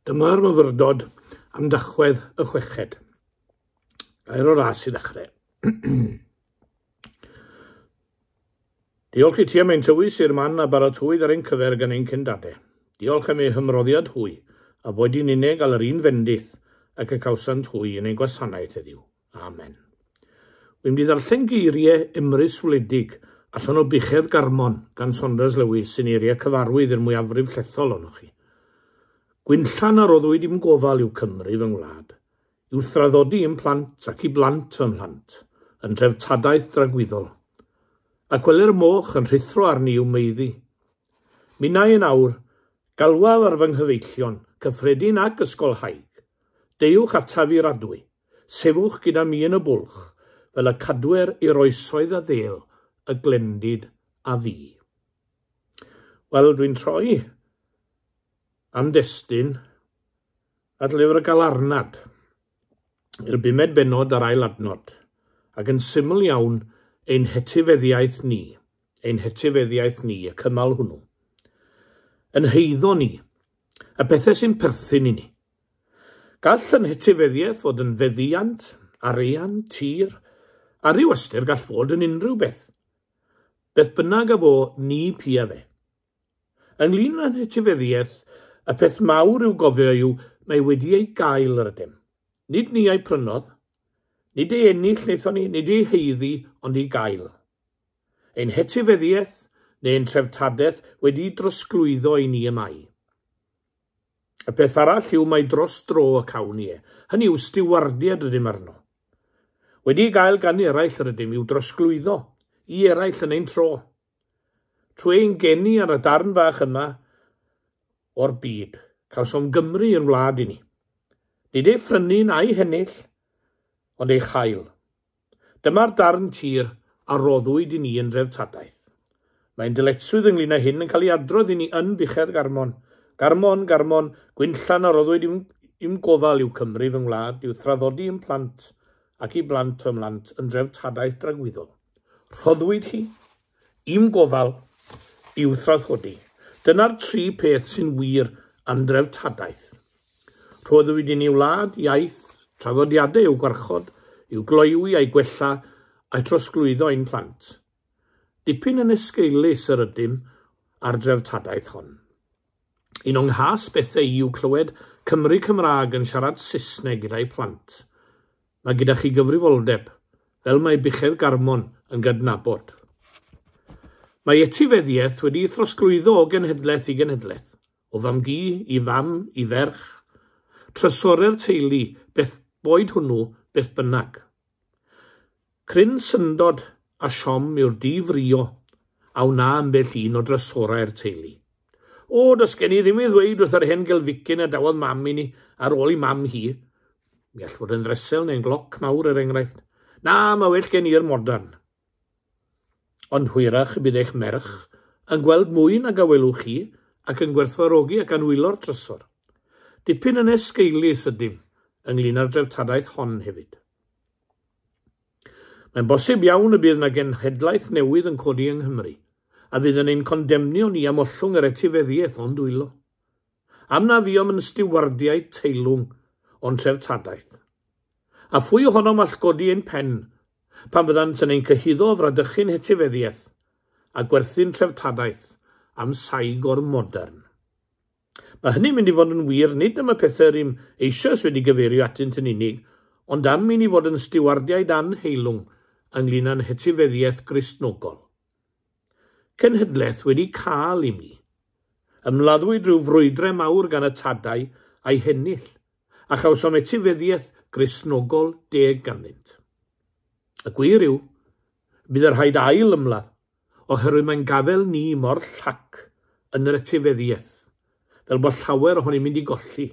Dyma'r myfyrdod am Dachwedd y chweched. Gair o ras i ddechrau. Diolch i ti am ein tywys i'r man a baratowyd ar ein cyfer gan ein cyndadau. Diolch am eu hymroddiad hwy, a boed i'n unig gael yr un fendith ac y cawsant hwy yn ein gwasanaeth heddiw. Amen. Wy'n mynd i ddarllen geiriau Emrys Wledig allan o Buchedd Garmon gan Saunders Lewis sy'n eiriau cyfarwydd i'r mwyafrif llethol ohonoch chi. Gwinllan a roddwyd i'm gofal yw Cymru fy ngwlad, i'w thraddodi i'm plant ac i blant fy mhlant, yn dreftadaeth dragwyddol. Ac wele'r moch yn rhuthro arni i'w maeddu. Minnau yn awr, galwaf ar fy nghyfeillion, cyffredin ac ysgolhaig. Deuwch ataf i'r adwy. Sefwch gyda mi yn y bwlch, fel y cadwer i'r oesoedd a ddêl, y glendid a fu. Wel, dwi'n troi am destun at lyfr y Galarnad, i'r bumed bennod a'r ail adnod, ac yn syml iawn, ein hetifeddiaeth ni, ein hetifeddiaeth ni, y cymal hwnnw. Yn heiddo ni, y pethau sy'n perthyn i ni. Gall yn hetifeddiaeth fod yn feddiant, arian, tir, a rhyw ystyr gall fod yn unrhyw beth. Beth bynnag a fo, ni pia fe. Ynglyn â'n hetifeddiaeth, y peth mawr i'w gofio yw mae wedi ei gael yr ydym. Nid ni a'i prynodd, nid ei ennill wnaethon ni, nid ei haeddu, ond ei gael. Ein hetifeddiaeth neu ein treftadaeth wedi'i drosglwyddo i ni y mae. Y peth arall yw mai dros dro y cawn ni e, hynny yw stiwardiad rydym arno. Wedi ei gael gan eraill yr ydym i'w drosglwyddo i eraill yn ein tro. Trwy ein geni ar y darn fach yma o'r byd, cawsom Gymru yn wlad i ni. Nid ei phrynu na'i hennill, ond ei chael. Dyma'r darn tir a roddwyd i ni yn dreftadaeth. Mae'n dyletswydd ynglyn â hyn yn cael ei adrodd i ni yn Buchedd Garmon. Garmon, Garmon, gwinllan a roddwyd i'm, i'm gofal yw Cymru fy ngwlad, i'w thraddodi i'm plant ac i blant fy mhlant yn dreftadaeth dragwyddol. Rhoddwyd hi i'm gofal i'w thraddodi. Dyna'r tri peth sy'n wir am dreftadaeth. Rhoddwyd i ni wlad, iaith, traddodiadau i'w gwarchod, i'w gloywi a'i gwella a'i trosglwyddo i'n plant. Dipyn yn esgeulus yr ydym ar dreftadaeth hon. Un o'n nghas bethau i yw clywed Cymry Cymraeg yn siarad Saesneg gyda'i plant. Mae gyda chi gyfrifoldeb, fel mae Buchedd Garmon yn gydnabod. Mae etifeddiaeth wedi'i throsglwyddo o genhedlaeth i genhedlaeth, o fam-gu i fam i ferch, trysorau'r teulu, beth boed hwnnw, beth bynnag. Cryn syndod a siom yw'r difrïo a wna ambell un o drysorau'r teulu. O, does gen i ddim i ddweud wrth yr hen gelficyn a dawodd mam i ni ar ôl i mam hi. Mi all fod yn ddresel neu'n gloc mawr er enghraifft. Na, mae well gen i'r modern. Ond hwyrach y bydd eich merch yn gweld mwy nag a welwch chi ac yn gwerthfawrogi ac anwylo'r trysor. Dipyn yn esgeulus ydym ynglyn â'r dreftadaeth hon hefyd. Mae'n bosib iawn y bydd 'na genhedlaeth newydd yn codi yng Nghymru a fydd yn ein condemnio ni am ollwng yr etifeddiaeth o'n dwylo. Am na fuom yn stiwardiaid teilwng o'n treftadaeth. A phwy ohonom all godi ein pen pan fyddant yn ein cyhuddo o fradychu'n hetifeddiaeth a gwerthu'n treftadaeth am saig o'r modern? Mae hynny'n mynd i fod yn wir nid am y pethau rŷm eisoes wedi gyfeirio atynt yn unig, ond am i ni fod yn stiwardiaid annheilwng ynglŷn â'n hetifeddiaeth Gristnogol. Cenhedlaeth wedi cael i mi. Ymladdwyd rhyw frwydrau mawr gan y tadau a'i hennill, a chawsom etifeddiaeth Gristnogol deg ganddynt. Y gwir yw, bydd y rhaid ail ymladd, oherwydd mae'n gafael ni mor llac yn yr etifeddiaeth, fel bod llawer ohoni'n mynd i golli.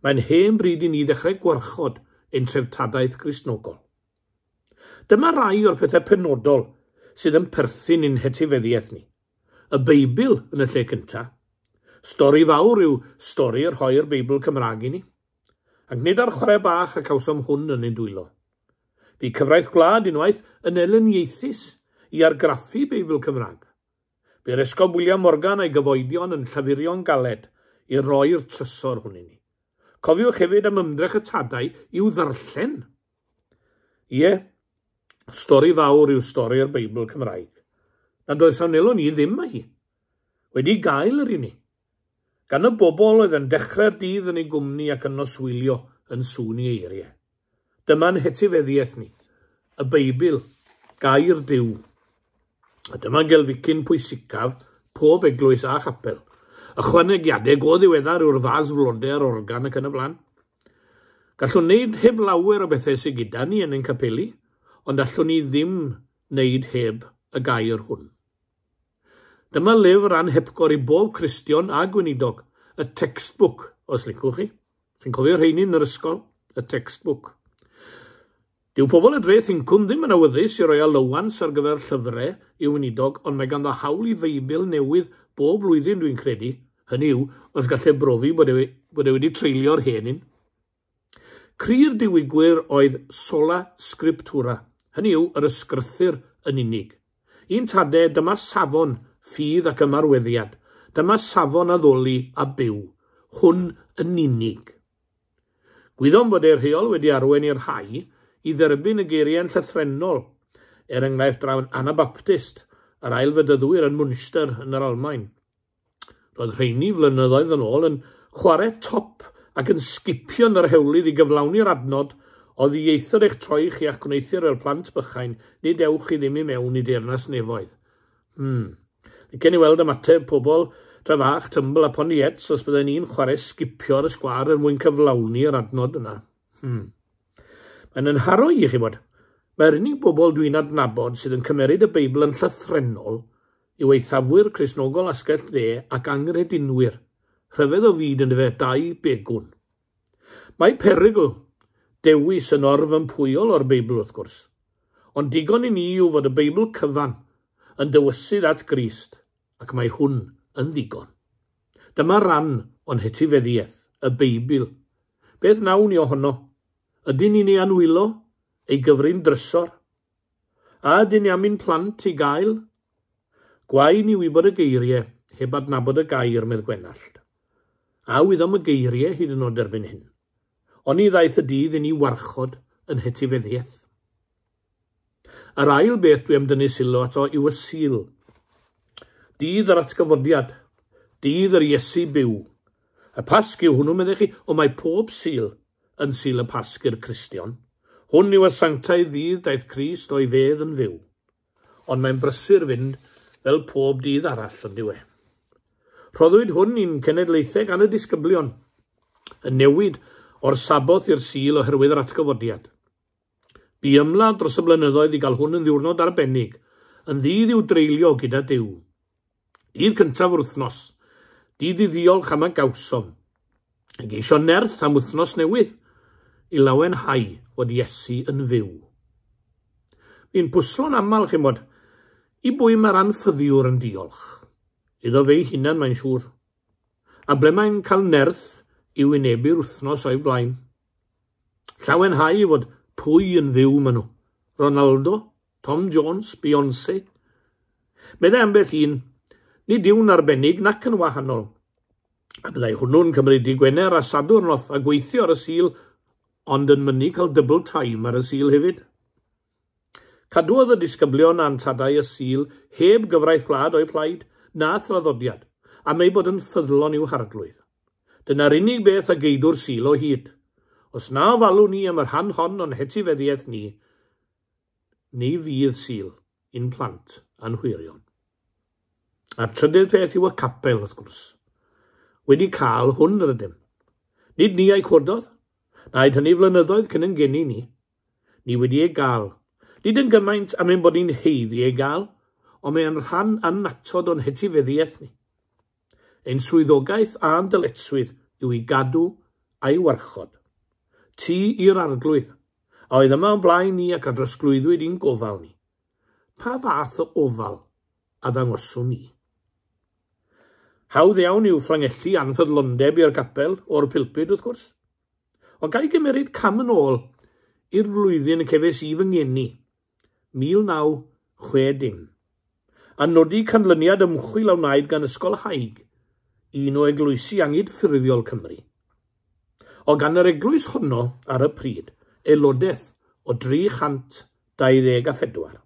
Mae'n hen bryd i ni ddechrau gwarchod ein treftadaeth Gristnogol. Dyma rai o'r pethau penodol sydd yn perthyn i'n hetifeddiaeth ni. Y Beibl yn y lle cyntaf. Stori fawr yw stori rhoi'r Beibl Cymraeg i ni. Ac nid ar chwarae bach y cawsom hwn yn ein dwylo. Bu cyfraith gwlad unwaith yn elyniaethus i argraffu Beibl Cymraeg. Bu'r Esgob William Morgan a'i gyfoedion yn llafurio'n galed i roi'r trysor hwn i ni. Cofiwch hefyd am ymdrech y tadau i'w ddarllen. Ie, stori fawr yw stori'r Beibl Cymraeg. Nad oes a wnelwn ni ddim â hi. Wedi gael yr i ni. Gan y bobl oedd yn dechrau'r dydd yn ei gwmni ac yn noswylio yn sŵn ei eiriau. Dyma'n hetifeddiaeth ni, y Beibl, gair Duw. A dyma gelficyn pwysicaf pob eglwys a chapel. Ychwanegiadau go ddiweddar yw'r fas flodau a'r organ ac yn y blaen. Gallwn wneud heb lawer o bethau sydd gyda ni yn ein capeli, ond allwn ni ddim wneud heb y gair hwn. Dyma lyfr anhepgor i bob Cristion a gweinidog, y textbook, os licwch chi. Chi'n cofio rheini yn yr ysgol? Y textbook. Dyw pobl y dreth incwm ddim yn awyddus i roi allowance ar gyfer llyfrau i'w weinidog, ond mae ganddo hawl i Feibl newydd bob blwyddyn dwi'n credu, hynny yw, os gall e brofi bod e, bod e wedi treulio'r hen un. Cri'r diwygwyr oedd sola scriptura, hynny yw, yr ysgrythur yn unig. Un tade, dyma safon ffydd ac ymarweddiad, dyma safon addoli a byw, hwn yn unig. Gwyddom fod ei rheol wedi arwain i'r rhai i dderbyn y geiriau'n llythrennol, er enghraifft drawn Anabaptist a'r ailfedyddwyr yn Münster yn yr Almaen. Roedd rheini flynyddoedd yn ôl yn chwarae top ac yn sgipio yn yr hewlydd i gyflawni'r adnod o ddieithr eich troi chi a'ch gwneuthur fel plant bychain, nid ewch chi ddim i mewn i deyrnas nefoedd. Licen i weld ymateb pobl Trefach, Tymbl a Poniets os bydden ni'n chwarae sgipio ar y sgwâr er mwyn cyflawni yr adnod yna. Mae'n yn haro i chi bod. Mae'r unig bobl dwi'n adnabod sydd yn cymeryd y Beibl yn llythrennol yw eithafwyr Cristnogol asgell dde ac anghredinwyr. Rhyfedd o fyd yn dyfe, dau begwn. Mae perygl dewis yn orfympwyol o'r Beibl wrth gwrs. Ond digon i ni yw fod y Beibl cyfan yn dywysydd at Grist, ac mae hwn yn ddigon. Dyma ran o'n hetifeddiaeth, y Beibl. Beth nawn ni ohono? Ydyn ni'n ei anwylo, ei gyfrin drysor? A ydyn ni am ein plant i gael? Gwae ni wybod y geiriau, heb adnabod y gair, medd Gwenallt. A wyddom y geiriau hyd yn oed erbyn hyn. Oni ddaeth y dydd i ni warchod yn hetifeddiaeth. Yr ail beth dwi am dynnu sylw ato yw y Sul. Dydd yr atgyfodiad, dydd yr Iesu byw. Y Pasg yw hwnnw, meddech chi, ond mae pob Sul yn Sul y Pasg i'r Cristion. Hwn yw y sanctaidd ddydd daeth Crist o'i fedd yn fyw. Ond mae'n brysur fynd fel pob dydd arall, ond dyw e. Rhoddwyd hwn i'n cenedlaethau gan y disgyblion, y newid o'r Saboth i'r Sul oherwydd yr atgyfodiad. Bu ymladd dros y blynyddoedd i gael hwn yn ddiwrnod arbennig, yn ddydd i'w dreulio gyda Duw. Dydd cyntaf yr wythnos, dydd i ddiolch am a gawsom, i geisio nerth am wythnos newydd, i lawenhau fod Iesu yn fyw. Fi'n pwslo'n aml, chi'mod, i bwy mae'r anffyddiwr yn diolch? Iddo fe'i hunan, mae'n siŵr. A ble mae'n cael nerth i wynebu'r wythnos o'i blaen? Llawenhau fod pwy yn fyw maen nhw? Ronaldo? Tom Jones? Beyoncé? Meddai ambell un, nid yw'n arbennig nac yn wahanol. A byddai hwnnw'n cymryd dydd Gwener a Sadwrn off a gweithio ar y Sul, ond yn mynnu cael double time ar y Sul hefyd. Cadwodd y disgyblion a'n tadau y Sul heb gyfraith gwlad o'u plaid, na thraddodiad, am eu bod yn ffyddlon i'w harglwydd. Dyna'r unig beth a geidw'r Sul o hyd. Os na ofalwn ni am y rhan hon o'n hetifeddiaeth ni, ni fydd Sul i'n plant a'n hwyrion. A'r trydydd peth yw y capel, wrth gwrs. Wedi cael hwn yr ydym. Nid ni a'i cododd, naed hynny flynyddoedd cyn yn geni ni. Ni wedi ei gael. Nid yn gymaint am ein bod ni'n haeddu ei gael, ond mae'n rhan annatod o'n hetifeddiaeth ni. Ein swyddogaeth a'n dyletswydd yw i gadw a'i warchod. Tŷ i'r arglwydd, a oedd yma o'n blaen ni ac a drosglwyddwyd i'n gofal ni. Pa fath o ofal a ddangoswn ni? Hawdd iawn yw fflangellu anffyddlondeb i'r gapel o'r pulpud, wrth gwrs. Ond ga i gymeryd cam yn ôl i'r flwyddyn y cefais i fy ngeni, 1960, a nodi canlyniad ymchwil a wnaed gan Ysgol Haig un o eglwysi angydffurfiol Cymru. O gan yr eglwys honno ar y pryd, aelodaeth o 324.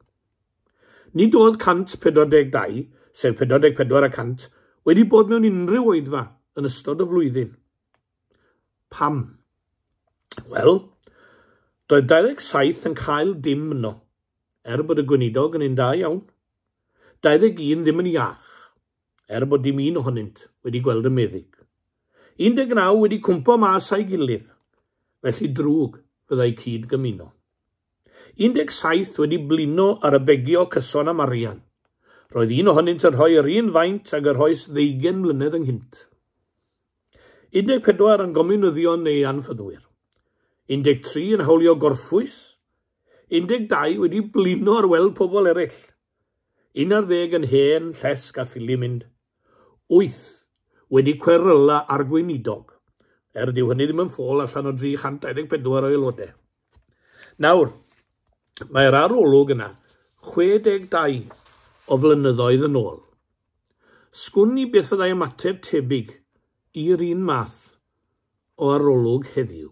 Nid oedd 142, sef 44 y cant, wedi bod mewn unrhyw oedfa yn ystod y flwyddyn. Pam? Wel, doedd 27 yn cael dim yno, er bod y gweinidog yn un da iawn. 21 ddim yn iach, er bod dim un ohonynt wedi gweld y meddyg. 19 wedi cwmpo mas a'i gilydd, felly drwg fyddai cyd gymuno. 17 wedi blino ar y begio cyson am arian. Roedd un ohonynt yn rhoi yr un faint ag yr rhoes 20 mlynedd ynghynt. 14 yn gomiwnyddion neu anffyddwyr. 13 yn hawlio gorffwys. 12 wedi blino ar weld pobl eraill. 11 yn hen, llesg a ffili mynd. 8 wedi cweryla ar gweinidog. Er dyw hynny ddim yn ffôl allan o 324 o aelodau. Nawr, mae'r arolwg yna 62 o flynyddoedd yn ôl. Sgwn i beth fyddai ymateb tebyg i'r un math o arolwg heddiw.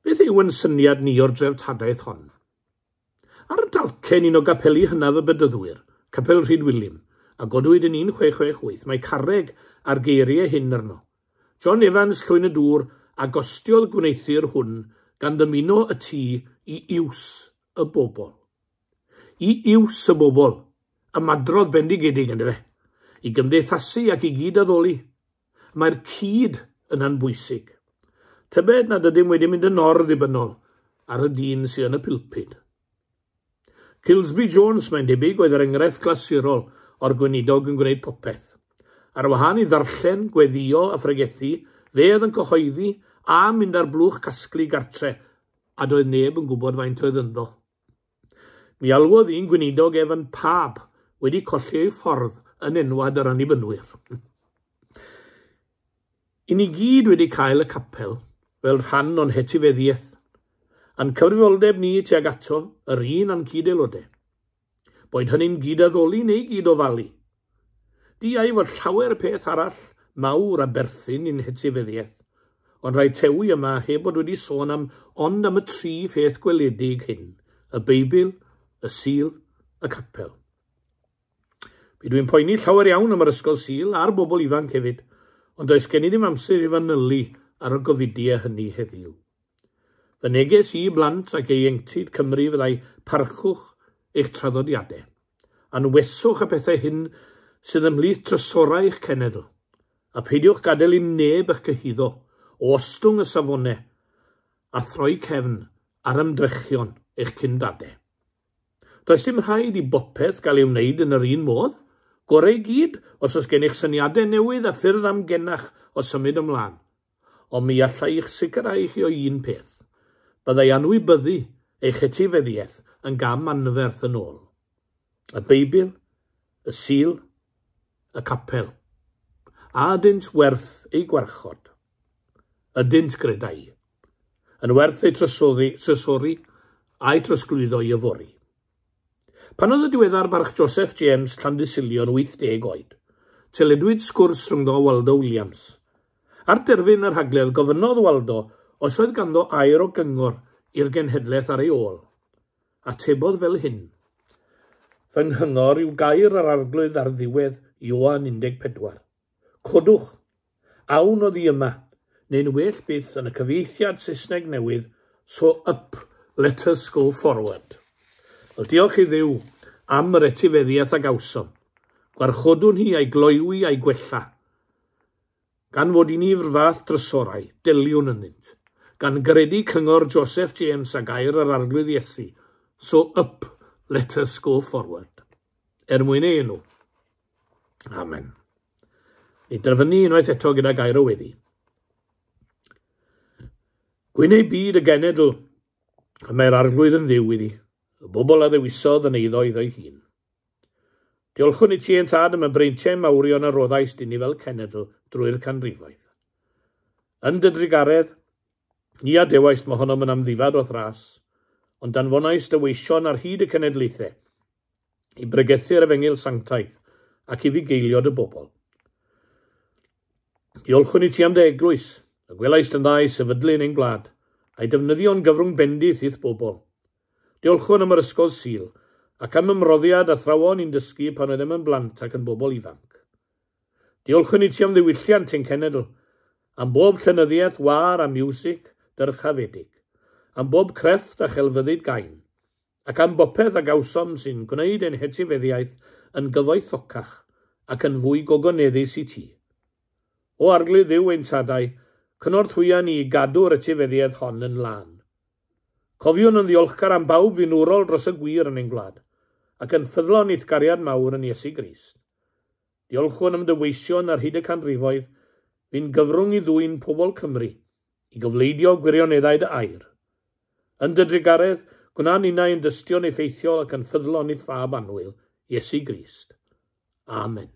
Beth yw yn syniad ni o'r dreftadaeth hon? Ar y dalcen un o gapeli hynaf y Bedyddwyr, Capel Rhydwilym, a godwyd yn 1668, mae carreg a'r geiriau hyn arno. John Evans Llwyn y Dŵr a gostiodd gwneuthur hwn gan ddymuno y tŷ i iws y bobl. I iws y bobl, ymadrodd bendigedig yndyfe, i gymdeithasu ac i gyd addoli. Mae'r cyd yna'n bwysig. Tybed nad ydym wedi mynd yn or-ddibynnol ar y dyn sydd yn y pulpud. Kilsby Jones, mae'n debyg, oedd yr enghraifft clasurol o'r gweinidog yn gwneud popeth. Ar wahân i ddarllen, gweddio a phregethu, fe oedd yn cyhoeddi a mynd ar blwch casglu gartre, a doedd neb yn gwybod faint oedd ynddo. Mi alwodd un gweinidog ef yn pab wedi colli ei ffordd yn enwad yr Annibynwyr. I ni gyd wedi cael y capel fel rhan o'n hetifeddiaeth, a'n cyfrifoldeb ni tuag ato yr un a'n cyd-aelodau. Boed hynny'n gyd-addoli neu gyd-ofalu. Diau fod llawer peth arall mawr a berthyn i'n hetifeddiaeth, ond rhaid tewi yma heb bod wedi sôn am ond am y tri pheth gweledig hyn, y Beibl, y Sul, y capel. Mi dwi'n poeni llawer iawn am yr ysgol Sul a'r bobl ifanc hefyd, ond does gen i ddim amser i fanylu ar y gofidiau hynny heddiw. Fy neges i blant ac ieuenctid Cymru fyddai parchwch eich traddodiadau. Anweswch y pethau hyn sydd ymhlith trysorau eich cenedl, a peidiwch gadael i neb eich cyhuddo o ostwng y safonau a throi cefn ar ymdrechion eich cyndadau. Does dim rhaid i bopeth gael ei wneud yn yr un modd. Gorau i gyd os oes gennych syniadau newydd a ffyrdd amgenach o symud ymlaen. Ond mi allai eich sicrhau chi o un peth. Byddai anwybyddu eich etifeddiaeth yn gam anferth yn ôl. Y Beibl, y Sul, y capel. A ydynt werth eu gwarchod? Ydynt, gredai. Yn werth eu trysori a'u trosglwyddo i yfory. Pan oedd y diweddar barch Joseph James Llandysilio yn 80 oed, teledwyd sgwrs rhyngddo Waldo Williams. Ar derfyn yr rhagledd, gofynnodd Waldo os oedd ganddo air o gyngor i'r genhedlaeth ar ei ôl. Atebodd fel hyn. Fy nghyngor yw gair yr arglwydd ar ddiwedd Ioan 14. Codwch, awn oddi yma, neu'n well byth yn y cyfieithiad Saesneg newydd, so up, let us go forward. Wel, diolch i Dduw am yr etifeddiaeth a gawsom. Gwarchodwn hi a'i gloywi a'i gwella. Gan fod i ni'r fath drysorau, deliwn ynddynt. Gan gredu cyngor Joseph James a gair yr arglwydd Iesu, so up, let us go forward. Er mwyn ei enw. Amen. Ni derfynu unwaith eto gyda gair o weddi. Gwyn ei byd y genedl, y mae'r arglwydd yn ddiw iddi, y bobl a ddewisodd yn eiddo iddo'i hun. Diolchwn i ti ein tad am y breintiau mawrion a roddaist i ni fel cenedl drwy'r canrifoedd. Yn dy drugaredd, ni adewaist mohonom yn amddifad o'th ras, ond danfonaist dy weision ar hyd y cenedlaethau i bregethu'r efengyl sanctaidd ac i fugeilio dy bobl. Diolchwn i ti am dy eglwys, y gwelaist yn dda i sefydlu yn ein gwlad, a'i defnyddio'n gyfrwng bendith i'th bobl. Diolchwn am yr ysgol Sul, ac am ymroddiad athrawon i'n dysgu pan oeddem yn blant ac yn bobl ifanc. Diolchwn i ti am ddiwylliant ein cenedl, am bob llenyddiaeth wâr a miwsig dyrchafedig, am bob crefft a chelfyddyd gain, ac am bopeth a gawsom sy'n gwneud ein hetifeddiaeth yn gyfoethocach ac yn fwy gogoneddus i ti. O Arglwydd Dduw ein tadau, cynorthwya ni i gadw'r etifeddiaeth hon yn lân. Cofiwn yn ddiolchgar am bawb fu'n wrol dros y gwir yn ein gwlad, ac yn ffyddlon i'th gariad mawr yn Iesu Grist. Diolchwn am dy weision ar hyd y canrifoedd, fu'n gyfrwng i ddwyn pobl Cymru i gofleidio gwirioneddau dy air. Yn dy drugaredd, gwna ninnau yn dystion effeithiol ac yn ffyddlon i'th Fab annwyl, Iesu Grist. Amen.